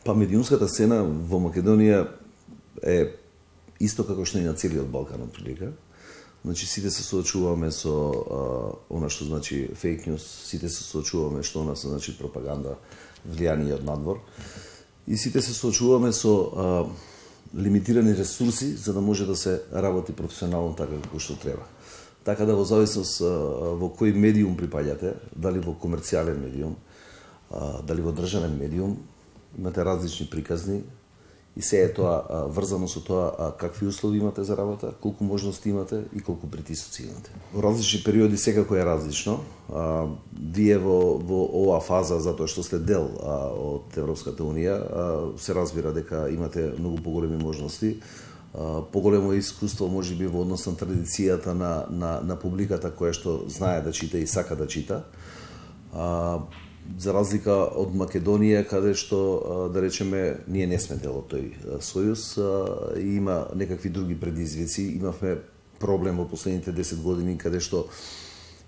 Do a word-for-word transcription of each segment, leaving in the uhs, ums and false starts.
Па медиумската сцена во Македонија е исто како што и на целиот Балкан отприлика. Значи сите се соочуваме со а, она што значи фейк ньюс, сите се соочуваме што она се значи пропаганда, влијание од надвор. И сите се соочуваме со а, лимитирани ресурси за да може да се работи професионално така како што треба. Така да во зависност а, во кој медиум припаѓате, дали во комерцијален медиум, а, дали во државен медиум, имате различни приказни и се е тоа а, врзано со тоа а, какви услови имате за работа, колку можности имате и колку притисоци имате. Во различни периоди секако е различно. А, вие во, во оваа фаза, затоа што сте дел а, од Европската Унија, а, се разбира дека имате многу поголеми можности, а, поголемо искуство можеби во однос на традицијата на, на, на публиката која што знае да чита и сака да чита. А, за разлика од Македонија, каде што, да речеме, ние не сме дел од тој сојуз, и има некакви други предизвици. Имавме проблем во последните десет години, каде што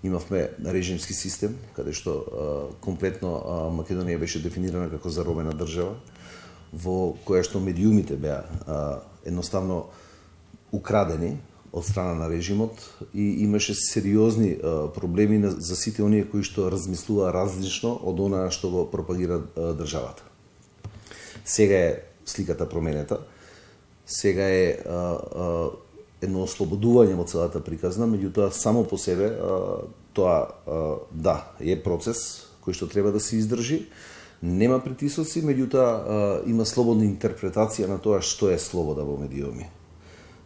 имавме режимски систем, каде што комплетно Македонија беше дефинирана како заробена држава, во која што медиумите беа едноставно украдени од страна на режимот и имаше сериозни а, проблеми на, за сите оние кои што размислуваа различно од она што го пропагира а, државата. Сега е сликата променета, сега е а, а, едно ослободување од целата приказна, меѓутоа само по себе а, тоа а, да, е процес кој што треба да се издржи, нема притисоци, меѓутоа има слободна интерпретација на тоа што е слобода во медиуми.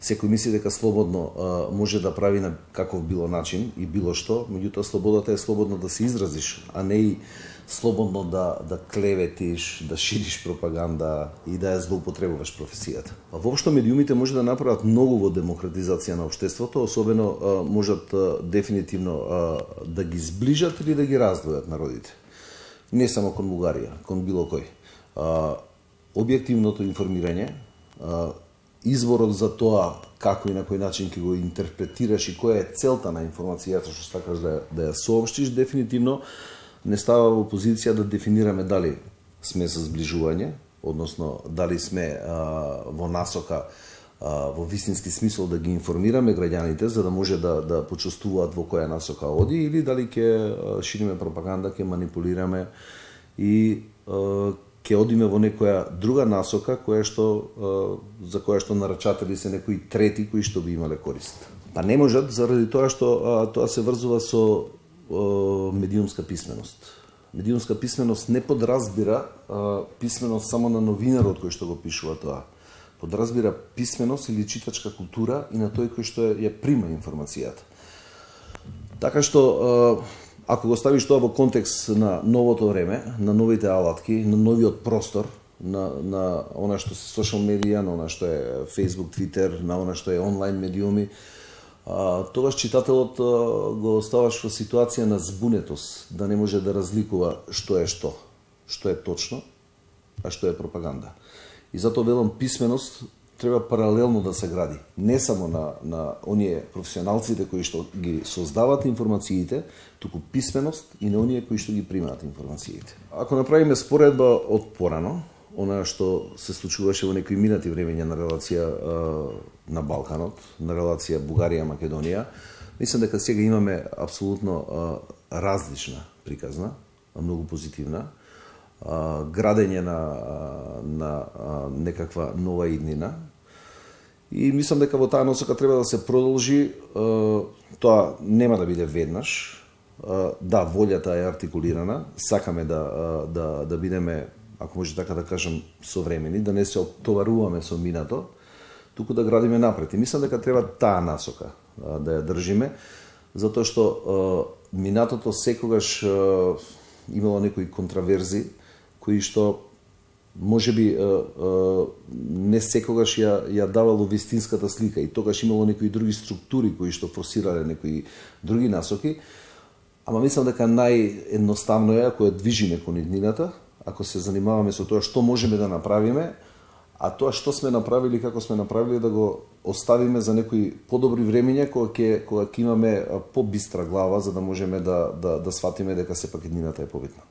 Секој мисли дека слободно а, може да прави на каков било начин и било што, меѓутоа слободата е слободно да се изразиш, а не и слободно да, да клеветиш, да шириш пропаганда и да ја злоупотребуваш професијата. А воопшто медиумите може да направат многу во демократизација на општеството, особено а, можат а, дефинитивно а, да ги зближат или да ги раздвојат народите. Не само кон Бугарија, кон било кој. А, објективното информирање, а, изборот за тоа како и на кој начин ќе го интерпретираш и која е целта на информацијата што сакаш да, да ја соопштиш, дефинитивно не става во позиција да дефинираме дали сме за зближување, односно дали сме а, во насока, а, во вистински смисол да ги информираме граѓаните за да може да, да почувствуваат во која насока оди, или дали ќе шириме пропаганда, ќе манипулираме и а, ќе одиме во некоја друга насока која што за која што нарачатели се некои трети кои што би имале корист. Па не можат заради тоа што тоа се врзува со медиумска писменост. Медиумска писменост не подразбира писменост само на новинарот кој што го пишува тоа. Подразбира писменост или читачка култура и на тој кој што ја прима информацијата. Така што ако го ставиш тоа во контекст на новото време, на новите алатки, на новиот простор, на, на она што се социјал медија, на она што е Facebook, Twitter, на она што е онлайн медиуми, а, тогаш читателот а, го оставаш во ситуација на збунетост, да не може да разликува што е што, што е точно, а што е пропаганда. И затоа велам писменост треба паралелно да се гради, не само на, на оние професионалците кои што ги создаваат информациите, туку писменост и на оние кои што ги примаат информациите. Ако направиме споредба од порано, она што се случуваше во некои минати времења на релација а, на Балканот, на релација Бугарија-Македонија, мислам дека сега имаме апсолутно а, различна приказна, многу позитивна, а, градење на, на а, некаква нова иднина. И мислам дека во таа насока треба да се продолжи, тоа нема да биде веднаш. Да, волјата е артикулирана, сакаме да, да, да бидеме, ако може така да кажам, современи, да не се оптоваруваме со минато, туку да градиме напред. И мислам дека треба таа насока да ја држиме, затоа што минатото секогаш имало некои контраверзи, кои што може би не секогаш ја, ја давало вистинската слика и тогаш имало некои други структури кои што форсирале некои други насоки, ама мислам дека наједноставно е ако ја движиме кон иднината, ако се занимаваме со тоа што можеме да направиме, а тоа што сме направили, како сме направили, да го оставиме за некои подобри времења кога ќе кога ќе имаме побистра глава за да можеме да да да сватиме дека сепак иднината е побитна.